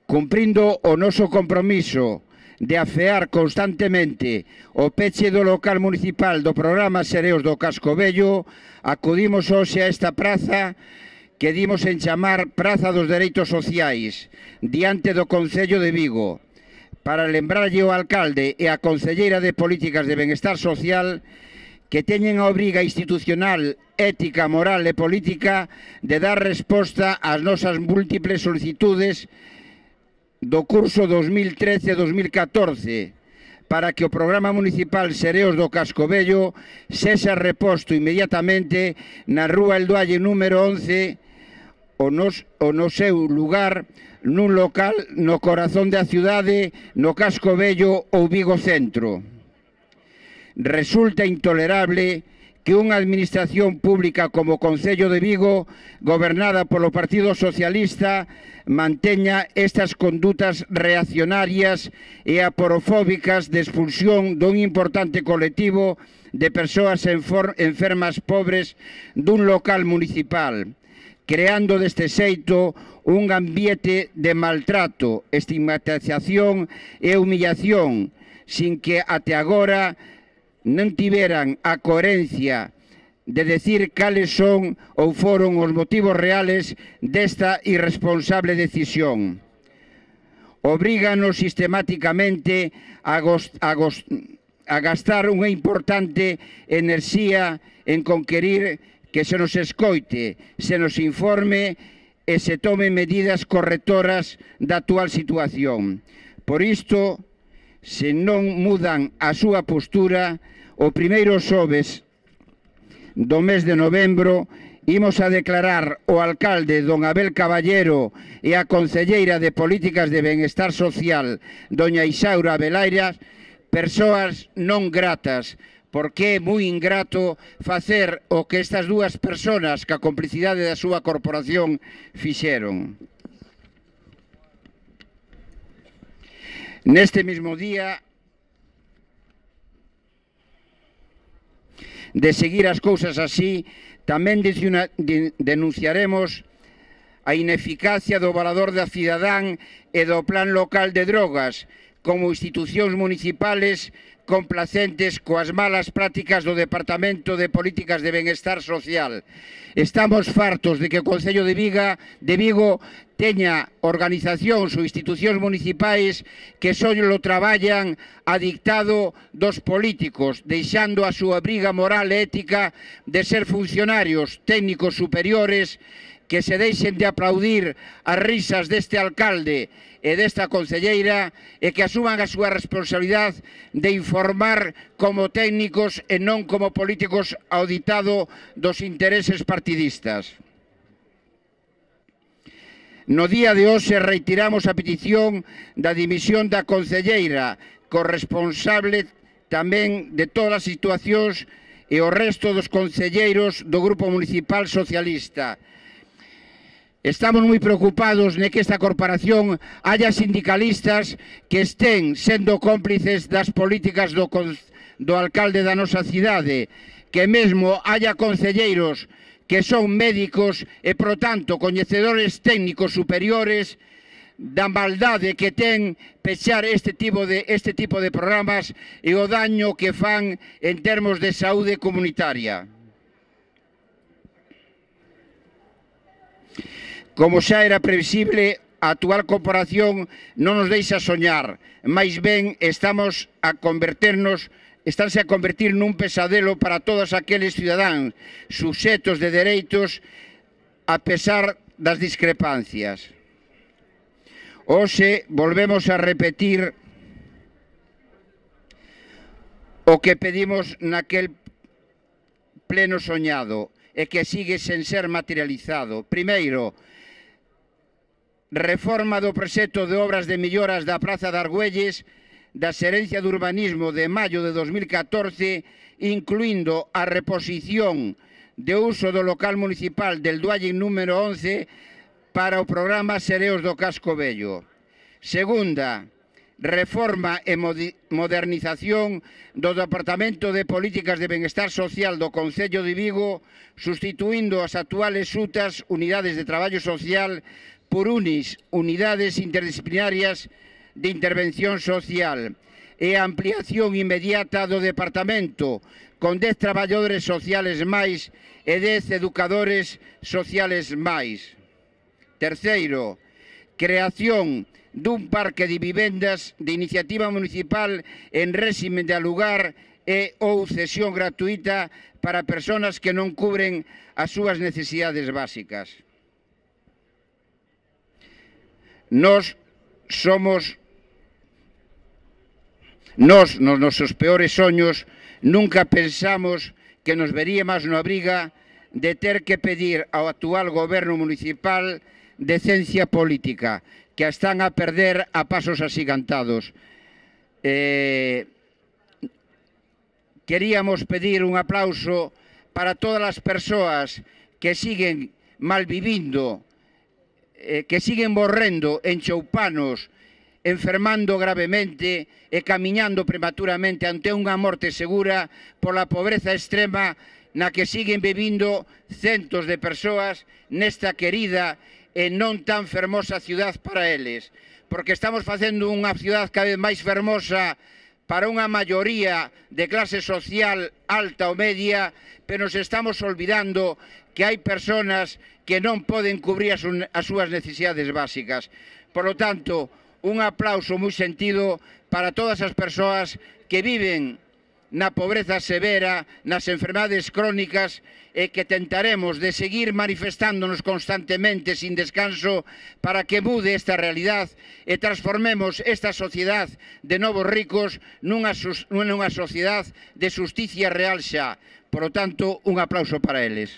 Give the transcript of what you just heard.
Cumprindo o noso compromiso de afear constantemente o peche do local municipal do programa Sereos do Casco Vello, acudimos hoxe a esta praza que dimos en chamar Praza dos Dereitos Sociais, diante do Concello de Vigo, para lembrarlle ao alcalde e a concelleira de Políticas de Benestar Social que teñen a obriga institucional, ética, moral e política de dar resposta ás nosas múltiples solicitudes do curso 2013-2014 para que o programa municipal Sereos do Casco Vello sexa reposto inmediatamente na Rúa Eldualle número 11 o no seu lugar nun local no corazón da cidade, no Casco Vello ou Vigo Centro. Resulta intolerable que unha administración pública como o Concello de Vigo, gobernada polo Partido Socialista, manteña estas condutas reaccionarias e aporofóbicas de expulsión dun importante colectivo de persoas enfermas pobres dun local municipal, creando deste xeito un ambiente de maltrato, estigmatización e humillación, sin que até agora non tiveran a coherencia de decir cales son ou foron os motivos reales desta irresponsable decisión. Obríganos sistemáticamente a gastar unha importante enerxía en conquerir que se nos escoite, se nos informe e se tomen medidas correctoras da actual situación. Por isto, se non mudan a súa postura, o primeiro xoves do mes de novembro imos a declarar o alcalde don Abel Caballero e a concelleira de Políticas de Benestar Social, doña Isaura Abelairas, persoas non gratas, porque é moi ingrato facer o que estas dúas persoas, ca complicidade da súa corporación, fixeron. Neste mismo día de seguir as cousas así, tamén denunciaremos a ineficacia do Varador da Cidadán e do Plan Local de Drogas como institucións municipales complacentes coas malas prácticas do Departamento de Políticas de Benestar Social. Estamos fartos de que o Concello de Vigo teña organizacións ou institucións municipais que só lo traballan a dictado dos políticos, deixando a súa obriga moral e ética de ser funcionarios técnicos superiores que se deixen de aplaudir as risas deste alcalde e desta concelleira e que asuman a súa responsabilidade de informar como técnicos e non como políticos ao ditado dos intereses partidistas. No día de hoxe reiteramos a petición da dimisión da concelleira, corresponsable tamén de todas as situacións e o resto dos concelleiros do Grupo Municipal Socialista. Estamos moi preocupados de que esta corporación haya sindicalistas que estén sendo cómplices das políticas do alcalde da nosa cidade, que mesmo haya concelleiros que son médicos e, por tanto, coñecedores técnicos superiores da maldade que ten pechar este tipo de programas e o daño que fan en termos de saúde comunitaria. Como xa era previsible, a actual corporación non nos deixa soñar, máis ben estánse a convertir nun pesadelo para todos aqueles cidadáns suxetos de dereitos a pesar das discrepancias. Hoxe volvemos a repetir o que pedimos naquel pleno soñado e que sigue sen ser materializado. Primeiro, reforma do proxecto de obras de melloras da Praza de Argüelles da Xerencia de Urbanismo de maio de 2014, incluindo a reposición de uso do local municipal del Eldualle número 11 para o programa Sereos do Casco Vello. Segunda, reforma e modernización do Departamento de Políticas de Benestar Social do Concello de Vigo, sustituindo as actuales UTAs, Unidades de Traballo Social, por UNIS, Unidades Interdisciplinarias de Intervención Social, e a ampliación inmediata do Departamento, con 10 traballadores sociales máis e 10 educadores sociales máis. Terceiro, creación dun parque de vivendas de iniciativa municipal en réxime de alugar e ou cesión gratuita para persoas que non cubren as súas necesidades básicas. Nos nosos peores soños, nunca pensamos que nos veríamos na obriga de ter que pedir ao actual goberno municipal decencia política, que a están a perder a pasos axigantados. Queríamos pedir un aplauso para todas as persoas que siguen malvivindo, que siguen morrendo en Choupanos, enfermando gravemente e camiñando prematuramente ante unha morte segura pola pobreza extrema na que siguen vivindo centos de persoas nesta querida e non tan fermosa ciudad para eles, porque estamos facendo unha ciudad cada vez máis fermosa para unha maioría de clase social alta ou media, pero nos estamos olvidando que hai persoas que non poden cubrir as súas necesidades básicas. Por lo tanto, un aplauso moi sentido para todas as persoas que viven na pobreza severa, nas enfermedades crónicas e que tentaremos de seguir manifestándonos constantemente sin descanso para que mude esta realidad e transformemos esta sociedade de novos ricos nunha sociedade de xusticia real xa. Por lo tanto, un aplauso para eles.